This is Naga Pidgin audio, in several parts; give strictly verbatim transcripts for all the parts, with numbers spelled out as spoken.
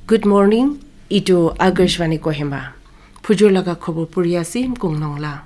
Good morning, itu Akashvani Kohima. Phujur laga khobor puri ase, Mkong Nongla.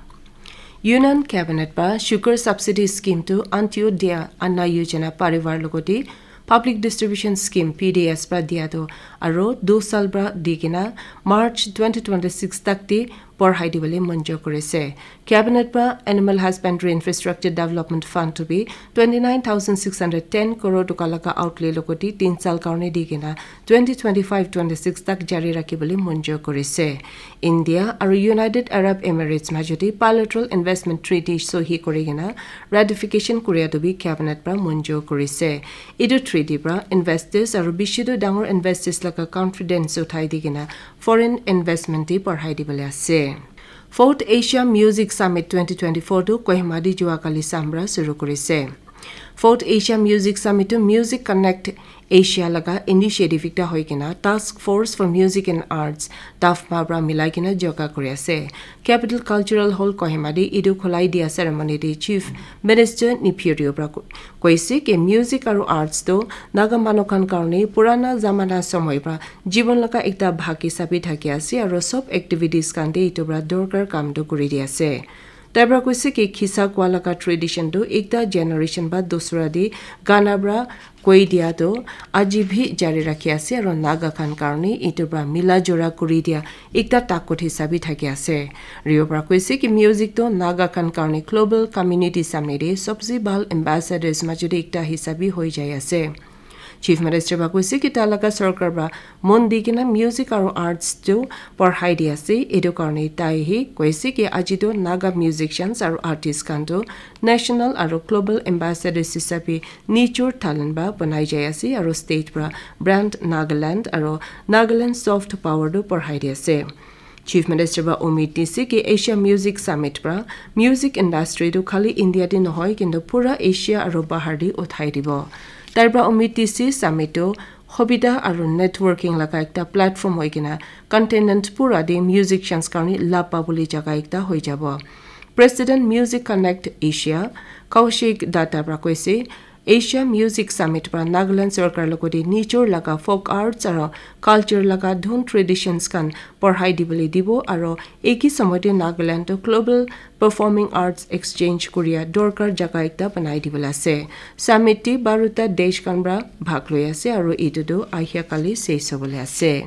Union Cabinet pa sugar subsidy scheme to Antyodaya Anna Yojana Parivar logoti Public Distribution Scheme, P D S, pra dia to aro du sal pra di kena March twenty twenty-six tak te porhai dibole monjur kurise. Cabinet pra Animal Husbandry Infrastructure Development Fund to bi twenty nine thousand six hundred ten crore toka laga outlay logoti tin sal karone di kena twenty twenty-five twenty-six tak jari rakhi bole monjur kurise. India aro United Arab Emirates majoti bilateral investment treaty sohi kuri kena ratification kuria to bi cabinet pra monjur kurise. Etu treaty pra investors aro bishi tu dangor investors laga confidence uthai di kena foreign investment te porhai dibole ase. Fourth Asia Music Summit twenty twenty-four tu Kohima di jua kali sambra suru kurise. Fourth Asia Music Summit tu Music Connect Asia laga initiative ekta hoi kena Task Force for Music and Arts, TAFMA pra milai kena joga kuri ase. Capital Cultural Hall Kohima di etu khulai dia ceremony di Chief Minister Neiphiu Rio pra ko- koise ki music aro arts tu Naga manu khan karone purana zamana somoy pra jibon laga ekta bhag hisabe thaki ase aro sob activities khan te etu pra dorkar kam tu kuri di ase. Tai pra koise ki khisa kua laga tradition tu ekta generation ba dusra te gana pra koi dia tu aji bhi jari rakhi ase aro Naga khan karone etu pra mila jora kuri dia ekta takut hisabe thaki ase. Rio pra koise ki music tu Naga khan karone global community samne te sobse bhal ambassadors majot te ekta hisabe hoi jai ase. Chief Minister pra koise ki ta laga sorkar pra mon di kena music aro arts tu porhai di ase. Etu karone tai hi koise ki aji tu Naga musicians aro artists khan tu national aro global ambassadors hisabe nijor talent ba banai jai ase aro state pra brand Nagaland aro Nagaland soft power tu porhai di ase. Chief Minister ba umid dise ki Asia Music Summit pra music industry tu khali India te nohoi kintu pura Asia aro bahar te uthai dibo. Tai pra umid dise summit tu hobida aro networking laga ekta platform hoi kena continent pura te musicians karone lab pabole jaga ekta hoi jabo. President Music Connect Asia Kaushik Datta pra koise Asia Music Summit pra Nagaland sorkar logoti nijor laga folk arts aro culture laga dhun traditions khan porhai dibole dibo aro eki somoy te Nagaland to global performing arts exchange kuria dorkar jaga ekta banai dibole ase. Summit te baruta desh khan pra bhag loi ase aro etu tu ahia kali ses hobole ase.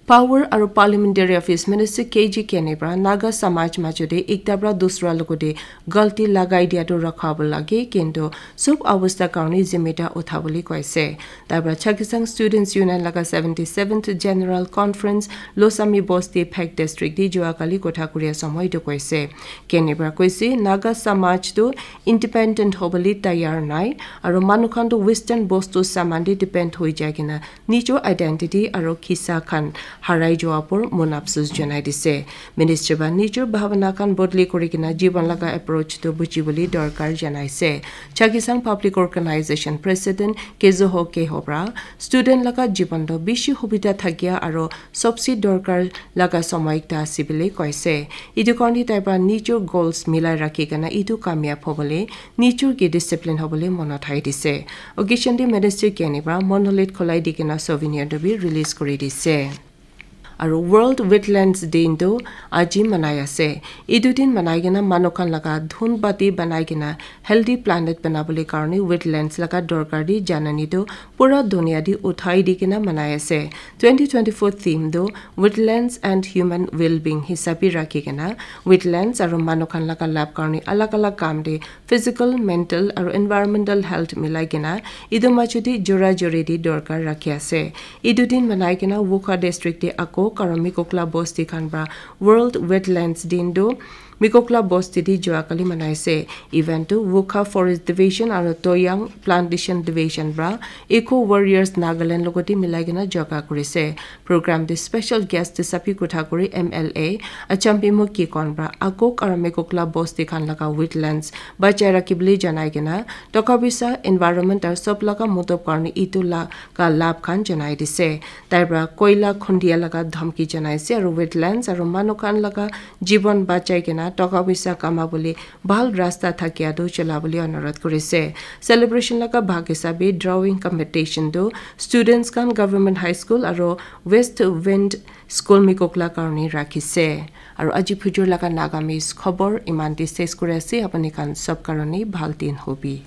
Power aro Parliamentary Affairs Minister K G Kene pra Naga Samaj majote ekta pra dusra logote galti lagai dia tu rakha bo lage, kintu sob awasta karone zimeda utha bole koise. Tai pra Chakhesang Students Union laga seventy seventh General Conference Losami Bosti Phek District te jua kali kotha kuria samoi tu koise. Kene pra koise Naga Samaj tu independent hobole tayar nai, aro manu khan tu Western bostu saman te depend hoi jai kena nijor identity aro kisa khan harai jua por mon apsus janai dise. Minister ba nijor bhabana khan bodli kuri kena jibon laga approach tu buji bole dorkar janai se. Chakhesang Public Organization President Kezoho Keho pra student laga jibon tu bishi hubida thakia aro sobse dorkar laga somoy ekta ase bole koise. Etu karone tai pra nijor goals milai rakhi kena etu kamyab hobole nijor ke discipline hobole monot hai dise. Occasion te Minister Kene pra monolith kholai di kena souvenir tu bi release kuri dise. Aro World Wetlands Day tu aji manai ase. Etu din manai kena manu khan laga dhun bati banai kena healthy planet banabole karone wetlands laga dorkar di janani tu pura dunia di uthai di kena manai ase. Twenty twenty-four theme tu Wetlands and Human Well-being hisabe rakhi kena wetlands aro manu khan laga lab karone alag alag kam de physical, mental aro environmental health milai kena etu majote jora jori di dorkar rakhi ase. Etu din manai kena Wokha district te ako aro Mikokla bosti khan pra World Wetlands din tu Mikokla bosti te jua kali manai se. Event tu Wokha Forest Division aro Toyang Plantation Division pra Eco Warriors Nagaland logote milai kena jaga kuri se. Program te special guest hisabe kotha kuri M L A Achambimo Kikon pra Akok aro Mikokla bosti khan laga wetlands bachai rakhi bole janai kena toka poisa, environment aro sob laga motob karone etu laga lab khan janai dise. Tai pra koila khondia laga dhamki janai se aro wetlands aro manu khan laga jibon bachai kena toka poisa kamabole bhal rasta thakia tu chola bole anurodh kurise. Celebration laga bhag hisabe drawing competition tu students khan Government High School aro West Wind School Mikok la karone rakhise. Aro aji phujur laga Nagamese khobor iman te ses kuri ase, apni khan sob karone bhal din hobi.